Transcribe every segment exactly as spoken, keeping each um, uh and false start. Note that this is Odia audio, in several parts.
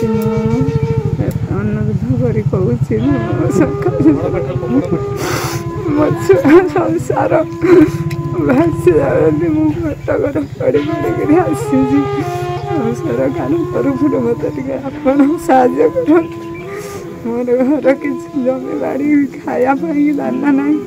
ଏତିକି ମୁଁ ଅନୁରୋଧ କରି କହୁଛି ମୋ ସରକାର ମୋ ଛୁଆ ସଂସାର ଭାସି ଯାଉଛନ୍ତି ମୁଁ କଟକରେ ପଡ଼ି ପଡ଼ିକିରି ଆସିଛି ଆଉ ସରକାର ତରଫରୁ ମୋତେ ଟିକେ ଆପଣ ସାହାଯ୍ୟ କରନ୍ତୁ ମୋର ଘର କିଛି ଜମି ବାଡ଼ି ଖାଇବା ପାଇଁ ଦାନା ନାହିଁ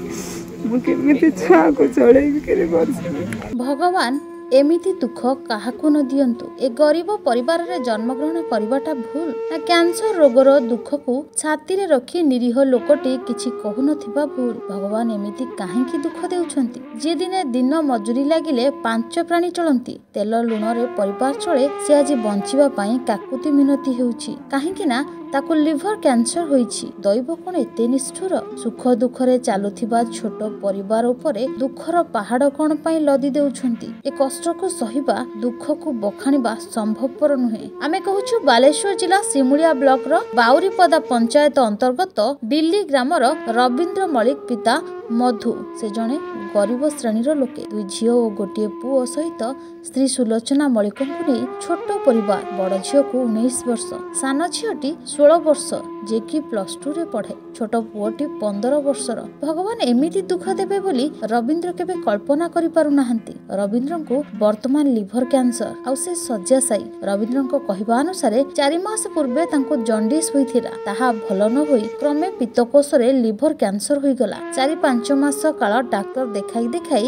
ମୁଁ କେମିତି ଛୁଆକୁ ଚଳେଇକିରି ବଞ୍ଚିବି ଭଗବାନ ଏମିତି ଦୁଃଖ କାହାକୁ ନ ଦିଅନ୍ତୁ ଏ ଗରିବ ପରିବାରରେ ଜନ୍ମଗ୍ରହଣ କରିବାଟା ଭୁଲ ନା କ୍ୟାନ୍ସର ରୋଗର ଦୁଃଖକୁ ଛାତିରେ ରଖି ନିରୀହ ଲୋକଟି କିଛି କହୁନଥିବା ଭୁଲ ଭଗବାନ ଏମିତି କାହିଁକି ଦୁଃଖ ଦେଉଛନ୍ତି ଯିଏ ଦିନେ ଦିନ ମଜୁରୀ ଲାଗିଲେ ପାଞ୍ଚ ପ୍ରାଣୀ ଚଳନ୍ତି ତେଲ ଲୁଣରେ ପରିବାର ଚଳେ ସେ ଆଜି ବଞ୍ଚିବା ପାଇଁ କାକୁତି ମିନତି ହେଉଛି କାହିଁକି ନା ତାକୁ ଲିଭର କ୍ୟାନ୍ସର ହୋଇଛି ଦୈବ କଣ ଏତେ ନିଷ୍ଠୁର ସୁଖ ଦୁଃଖରେ ଚାଲୁଥିବା ଛୋଟ ପରିବାର ଉପରେ ଦୁଃଖର ପାହାଡ଼ କଣ ପାଇଁ ଲଦି ଦେଉଛନ୍ତି ଏ କଷ୍ଟକୁ ସହିବା ଦୁଃଖକୁ ବଖାଣିବା ସମ୍ଭବପର ନୁହେଁ ଆମେ କହୁଛୁ ବାଲେଶ୍ୱର ଜିଲ୍ଲା ସିମୁଳିଆ ବ୍ଲକର ବାଉରିପଦା ପଞ୍ଚାୟତ ଅନ୍ତର୍ଗତ ଦିଲ୍ଲୀ ଗ୍ରାମର ରବୀନ୍ଦ୍ର ମଲ୍ଲିକ ପିତା ମଧୁ ସେ ଜଣେ ଗରିବ ଶ୍ରେଣୀର ଲୋକେ ଦୁଇ ଝିଅ ଓ ଗୋଟିଏ ପୁଅ ସହିତ ସ୍ତ୍ରୀ ସୁଲୋଚନା ମଲ୍ଲିକଙ୍କୁ ନେଇ ଛୋଟ ପରିବାର ବଡ଼ ଝିଅକୁ ଉଣେଇଶ ବର୍ଷ ସାନ ଝିଅଟି ଷୋହଳ ବର୍ଷ ଯିଏକି ପ୍ଲସ ଟୁରେ ପଢେ ଛୋଟ ପୁଅଟି ପନ୍ଦର ବର୍ଷର ଭଗବାନ ଏମିତି ଦୁଃଖ ଦେବେ ବୋଲି ରବୀନ୍ଦ୍ର କେବେ କଳ୍ପନା କରିପାରୁନାହାନ୍ତି ରବୀନ୍ଦ୍ରଙ୍କୁ ବର୍ତ୍ତମାନ ଲିଭର କ୍ୟାନ୍ସର ଆଉ ସେ ଶଯ୍ୟାଶାୟୀ ରବୀନ୍ଦ୍ରଙ୍କ କହିବା ଅନୁସାରେ ଚାରି ମାସ ପୂର୍ବେ ତାଙ୍କୁ ଜଣ୍ଡିସ୍ ହୋଇଥିଲା ତାହା ଭଲ ନ ହୋଇ କ୍ରମେ ପିତ୍ତକୋଷରେ ଲିଭର କ୍ୟାନ୍ସର ହୋଇଗଲା ଚାରି ପାଞ୍ଚ ମାସ କାଳ ଡାକ୍ତର ଦେଖାଇ ଦେଖାଇ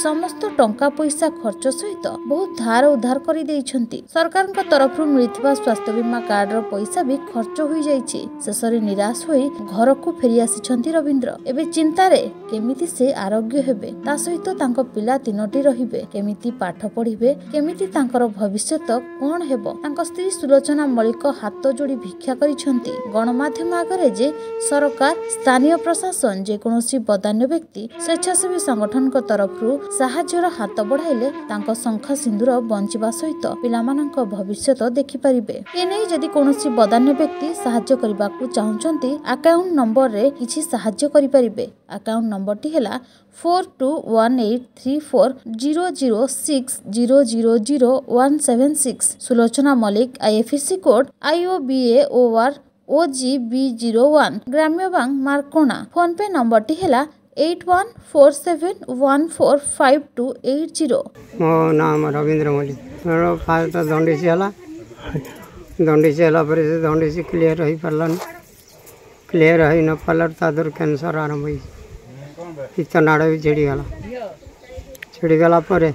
ସମସ୍ତ ଟଙ୍କା ପଇସା ଖର୍ଚ୍ଚ ସହିତ ବହୁତ ଧାର ଉଧାର କରିଦେଇଛନ୍ତି ସରକାରଙ୍କ ତରଫରୁ ମିଳିଥିବା ସ୍ୱାସ୍ଥ୍ୟ ବୀମା କାର୍ଡର ପଇସା ବି ଖର୍ଚ୍ଚ ହୋଇଯାଇଛି ଶେଷରେ ନିରାଶ ହୋଇ ଘରକୁ ଫେରି ଆସିଛନ୍ତି ରବୀନ୍ଦ୍ର ଏବେ ଚିନ୍ତାରେ କେମିତି ସେ ଆରୋଗ୍ୟ ହେବେ ତା ସହିତ ତାଙ୍କ ପିଲା ତିନୋଟି ରହିବେ କେମିତି ପାଠ ପଢିବେ କେମିତି ତାଙ୍କର ଭବିଷ୍ୟତ କଣ ହେବ ତାଙ୍କ ସ୍ତ୍ରୀ ସୁଲୋଚନା ମଲ୍ଲିକ ହାତ ଯୋଡ଼ି ଭିକ୍ଷା କରିଛନ୍ତି ଗଣମାଧ୍ୟମ ଆଗରେ ଯେ ସରକାର ସ୍ଥାନୀୟ ପ୍ରଶାସନ ଯେକୌଣସି ବଦାନ୍ୟ ବ୍ୟକ୍ତି ସ୍ୱେଚ୍ଛାସେବୀ ସଂଗଠନଙ୍କ ତରଫରୁ ସାହାଯ୍ୟର ହାତ ବଢାଇଲେ ତାଙ୍କ ଶଙ୍ଖ ସିନ୍ଦୁର ବଞ୍ଚିବା ସହିତ ପିଲାମାନଙ୍କ ଭବିଷ୍ୟତ ଦେଖିପାରିବେ ଏନେଇ ଯଦି କୌଣସି ବଦାନ୍ୟ ବ୍ୟକ୍ତି ସାହାଯ୍ୟ କରିବାକୁ ଚାହୁଁଛନ୍ତି ଆକାଉଣ୍ଟ ନମ୍ବରରେ କିଛି ସାହାଯ୍ୟ କରିପାରିବେ ଆକାଉଣ୍ଟ ନମ୍ବରଟି ହେଲା four two one eight three four zero zero six zero zero zero one seven six Sulochana Mallick IFSC code I O B A O R O G B zero one ଗ୍ରାମ୍ୟ ବ୍ୟାଙ୍କ ମାର୍କୋଣା ଫୋନ୍ପେ ନମ୍ବରଟି ହେଲା eight one four seven one four five two eight zero ମୋ ନାମ ରବୀନ୍ଦ୍ର ମଲ୍ଲିକ ମୋର ଫାଷ୍ଟ ଦଣ୍ଡିସି ହେଲା ଦଣ୍ଡିସି ହେଲା ପରେ ସେ ଦଣ୍ଡିସି କ୍ଲିୟର ହୋଇପାରିଲାନି କ୍ଲିୟର ହୋଇ ନ ପାରିଲାରୁ ତା ଦେହରୁ କ୍ୟାନ୍ସର ଆରମ୍ଭ ହେଇଛି ପିତ୍ତ ନାଡ଼ ବି ଛିଡ଼ିଗଲା ଛିଡ଼ିଗଲା ପରେ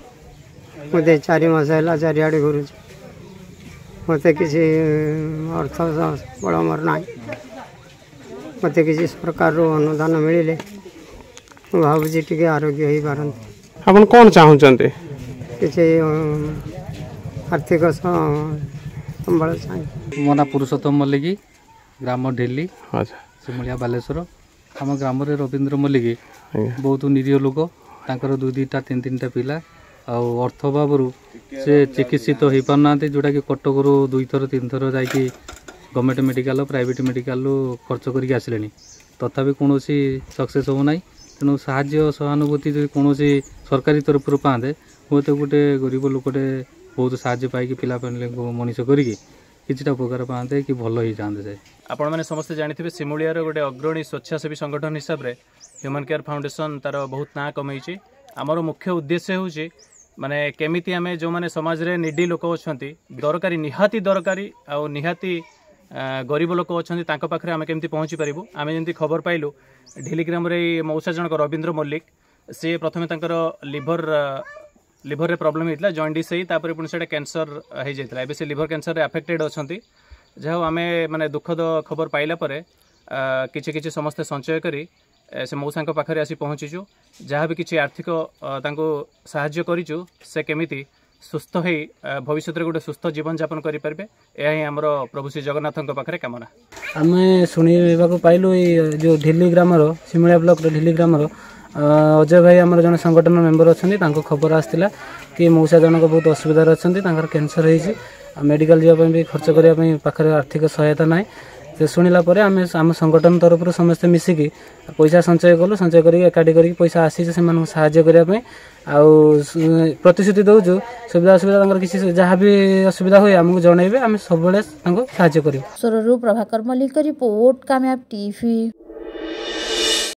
ମୋତେ ଚାରି ମାସ ହେଲା ଚାରିଆଡ଼େ ଘୁରୁଛି ମୋତେ କିଛି ଅର୍ଥ ବଳ ମୋର ନାହିଁ ମୋତେ କିଛି ସରକାରରୁ ଅନୁଦାନ ମିଳିଲେ ମୁଁ ଭାବୁଛି ଟିକେ ଆରୋଗ୍ୟ ହେଇପାରନ୍ତି ଆପଣ କ'ଣ ଚାହୁଁଛନ୍ତି କିଛି ଆର୍ଥିକ ସମ୍ବଳ ଚାହେଁ ମୋ ନାଁ ପୁରୁଷୋତ୍ତମ ମଲ୍ଲିକ ଗ୍ରାମ ଢିଲି ଆଚ୍ଛା ସିମୁଳିଆ ବାଲେଶ୍ୱର ଆମ ଗ୍ରାମରେ ରବୀନ୍ଦ୍ର ମଲ୍ଲିକ ଆଜ୍ଞା ବହୁତ ନିରୀହ ଲୋକ ତାଙ୍କର ଦୁଇ ଦୁଇଟା ତିନି ତିନିଟା ପିଲା ଆଉ ଅର୍ଥ ଅଭାବରୁ ସେ ଚିକିତ୍ସିତ ହେଇପାରୁନାହାନ୍ତି ଯେଉଁଟାକି କଟକରୁ ଦୁଇଥର ତିନିଥର ଯାଇକି ଗଭର୍ଣ୍ଣମେଣ୍ଟ ମେଡ଼ିକାଲ ପ୍ରାଇଭେଟ ମେଡ଼ିକାଲରୁ ଖର୍ଚ୍ଚ କରିକି ଆସିଲେଣି ତଥାପି କୌଣସି ସକ୍ସେସ୍ ହେଉନାହିଁ ତେଣୁ ସାହାଯ୍ୟ ସହାନୁଭୂତି ଯଦି କୌଣସି ସରକାରୀ ତରଫରୁ ପାଆନ୍ତେ ହୁଏତ ଗୋଟେ ଗରିବ ଲୋକଟେ ବହୁତ ସାହାଯ୍ୟ ପାଇକି ପିଲାପିଲାଙ୍କୁ ମଣିଷ କରିକି କିଛିଟା ଉପକାର ପାଆନ୍ତେ କି ଭଲ ହେଇଯାଆନ୍ତେ ସେ ଆପଣମାନେ ସମସ୍ତେ ଜାଣିଥିବେ ସିମୁଳିଆର ଗୋଟେ ଅଗ୍ରଣୀ ସ୍ୱେଚ୍ଛାସେବୀ ସଂଗଠନ ହିସାବରେ ହ୍ୟୁମାନ୍ କେୟାର ଫାଉଣ୍ଡେସନ୍ ତାର ବହୁତ ନାଁ କମେଇଛି ଆମର ମୁଖ୍ୟ ଉଦ୍ଦେଶ୍ୟ ହେଉଛି ମାନେ କେମିତି ଆମେ ଯେଉଁମାନେ ସମାଜରେ ନିଡି ଲୋକ ଅଛନ୍ତି ଦରକାରୀ ନିହାତି ଦରକାରୀ ଆଉ ନିହାତି ଆ, ଗରିବ ଲୋକ ଅଛନ୍ତି ତାଙ୍କ ପାଖରେ ଆମେ କେମିତି ପହଞ୍ଚି ପାରିବୁ ଆମେ ଯେମିତି ଖବର ପାଇଲୁ ଢିଲି ଗ୍ରାମରେ ଏଇ ମଉସା ଜଣକ ରବୀନ୍ଦ୍ର ମଲ୍ଲିକ ସିଏ ପ୍ରଥମେ ତାଙ୍କର ଲିଭର ଲିଭରରେ ପ୍ରୋବ୍ଲେମ୍ ହେଇଥିଲା ଜଣ୍ଡିସ୍ ହେଇ ତାପରେ ପୁଣି ସେଇଟା କ୍ୟାନ୍ସର ହେଇଯାଇଥିଲା ଏବେ ସେ ଲିଭର କ୍ୟାନ୍ସରରେ ଆଫେକ୍ଟେଡ୍ ଅଛନ୍ତି ଯାହା ହଉ ଆମେ ମାନେ ଦୁଃଖଦ ଖବର ପାଇଲା ପରେ ଆ, କିଛି କିଛି ସମସ୍ତେ ସଞ୍ଚୟ କରି ଏ, ସେ ମଉସାଙ୍କ ପାଖରେ ଆସି ପହଞ୍ଚିଛୁ ଯାହା ବି କିଛି ଆର୍ଥିକ ଅ, ତାଙ୍କୁ ସାହାଯ୍ୟ କରିଛୁ ସେ କେମିତି ସୁସ୍ଥ ହେଇ ଆ, ଭବିଷ୍ୟତରେ ଗୋଟେ ସୁସ୍ଥ ଜୀବନଯାପନ କରିପାରିବେ ଏହା ହିଁ ଆମର ପ୍ରଭୁ ଶ୍ରୀ ଜଗନ୍ନାଥଙ୍କ ପାଖରେ କାମନା ଆମେ ଶୁଣିବାକୁ ପାଇଲୁ ଏଇ ଯେଉଁ ଢିଲି ଗ୍ରାମର ସିମୁଳିଆ ବ୍ଲକର ଢିଲି ଗ୍ରାମର ଅ, ଅଜୟ ଭାଇ ଆମର ଜଣେ ସଂଗଠନ ମେମ୍ବର ଅଛନ୍ତି ତାଙ୍କ ଖବର ଆସିଥିଲା କି ମଉସା ଜଣକ ବହୁତ ଅସୁବିଧାରେ ଅଛନ୍ତି ତାଙ୍କର କ୍ୟାନ୍ସର ହେଇଛି ଆଉ ମେଡ଼ିକାଲ ଯିବା ପାଇଁ ବି ଖର୍ଚ୍ଚ କରିବା ପାଇଁ ପାଖରେ ଆର୍ଥିକ ସହାୟତା ନାହିଁ ସେ ଶୁଣିଲା ପରେ ଆମେ ଆମ ସଂଗଠନ ତରଫରୁ ସମସ୍ତେ ମିଶିକି ପଇସା ସଞ୍ଚୟ କଲୁ। ସଞ୍ଚୟ କରିକି ଏକାଠି କରିକି ପଇସା ଆସିଛି ସେମାନଙ୍କୁ ସାହାଯ୍ୟ କରିବା ପାଇଁ। ଆଉ ପ୍ରତିଶ୍ରୁତି ଦେଉଛୁ, ସୁବିଧା ଅସୁବିଧା ତାଙ୍କର କିଛି ଯାହା ବି ଅସୁବିଧା ହୁଏ ଆମକୁ ଜଣାଇବେ, ଆମେ ସବୁବେଳେ ତାଙ୍କୁ ସାହାଯ୍ୟ କରିବୁ। ସ୍ୱରରୁ ପ୍ରଭାକର ମଲ୍ଲିକ ରିପୋର୍ଟ, କାମୟାବ ଟିଭି।